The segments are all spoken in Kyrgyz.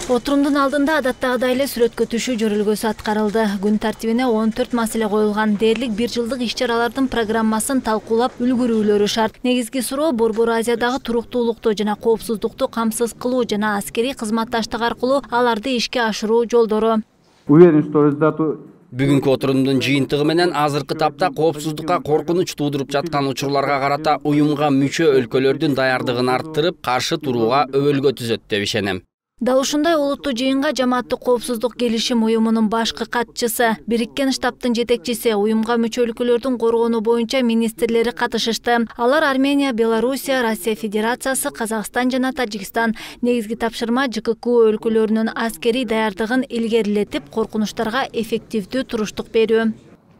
Отурумдун алдында адаттагыдай эле сүрөткө түшүү жөрөлгөсү аткарылды. Күн тартибине 14 маселе коюлган. Дээрлик 1 жылдык иш-чаралардын программасын талкуулап үлгүрүүлөрү шарт. Негизги суроо Борбор Азиядагы туруктуулукту жана коопсуздукту камсыз кылуу жана аскерий кызматташтык аркылуу аларды ишке ашыруу жолдору. Бүгүнкү отурумдун жыйынтыгы менен азыркы тапта коопсуздукка коркунуч туудуруп жаткан учурларга карата уюмга мүчө өлкөлөрдүн даярдыгын арттырып, каршы турууга өбөлгө түзөт деп ишенем. Дал ушундай олуттуу жыйынга Жамааттык коопсуздук келишим уюмунун башкы катчысы, Бириккен Штабтын жетекчиси, уюмга мүчө өлкөлөрдүн коргонуу боюнча министрлери катышышты. Алар Армения, Белоруссия, Россия Федерациясы, Казакстан жана Тажикстан. Негизги тапшырма ЖКК өлкөлөрүнүн аскерий даярдыгын илгерилетип, коркунучтарга эффективдүү туруштук берүү.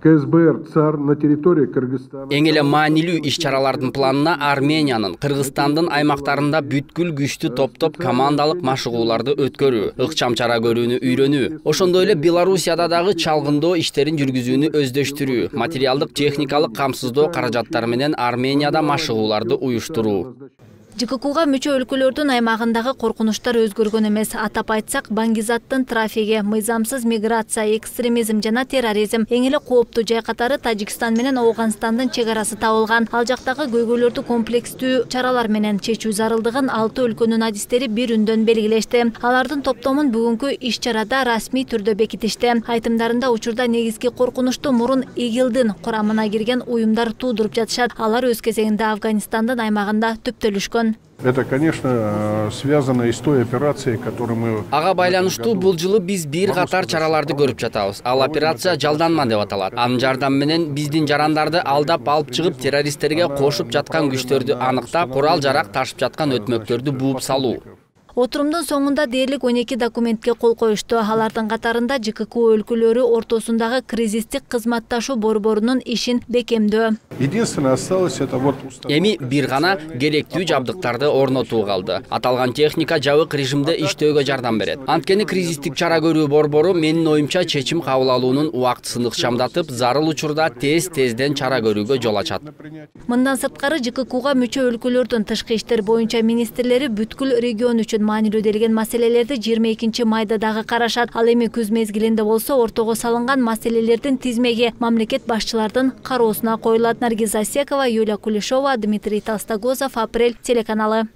КСБР ЦАР на территории Кыргызстана. Эң эле маанилүү иш-чаралардын планына Армениянын, Кыргызстандын аймактарында бүткүл күчтү топтоп командалык машыгууларды өткөрүү, ыкчам чара көрүүнү үйрөнүү, ошондой эле Белоруссияда дагы чалгындоо иштерин жүргүзүүнү өздөштүрүү, материалдык техникалык камсыздоо каражаттары менен Арменияда машыгууларды уюштуруу. ЖККга мүчө өлкөлөрдүн аймагындагы коркунучтар өзгөргөн эмес. Атап айтсак, баңгизаттын трафиги, мыйзамсыз миграция, экстремизм жана терроризм эң эле кооптуу жай катары Тажикстан менен Ооганстандын чек арасы табылган. Ал жактагы көйгөйлөрдү комплекстүү чаралар менен чечүү зарылдыгын 6 өлкөнүн адистери бир үндөн белгилешти. Алардын топтомун бүгүнкү иш-чарада расмий түрдө бекитишти. Айтымдарында учурда негизги коркунучту мурун ИГИЛдин курамына кирген уюмдар туудуруп жатышат. Алар өз кезегинде Афганистандын аймагында түптөлүшкөн. Это, конечно, связано и с той операцией, которую мы... Ага байланыштуу бул жылы биз бир катар чараларды көрүп жатабыз. Ал операция жалданма деп аталат. Анын жардамы менен биздин жарандарды алдап алып чыгып, террористтерге кошуп жаткан күчтөрдү аныктап, курал-жарак ташып жаткан өтмөктөрдү бууп салуу. Отурумдун соңунда дээрлик 12 документке кол коюшту. Алардын катарында ЖКК өлкөлөрү ортосундагы кризистик кызматташуу борборунун ишин бекемдөө. Единственное осталось это вот... Эми бир гана керектүү жабдыктарды орнотуу калды. Аталган техника жабык режимде иштөөгө жардам берет. Анткени кризистик чара көрүү борбору менин оюмча чечим кабыл алуунун убактысын ыкчамдатып, зарыл учурда тезден чара көрүүгө жол ачат. Мындан сырткары ЖККга мүчө өлкөлөрдүн тышкы иштер боюнча министрлери бүткүл регион үчүн маанилүү делген маселелерди 22 майда дагы карашат. Ал эми күз мезгилинде болсо ортого салынган маселелердин тизмеги мамлекет башчылардын кароосуна коюлат. Наргиз Асекова, Юлия Кулешова, Дмитрий Толстогозов, Апрель телеканалы.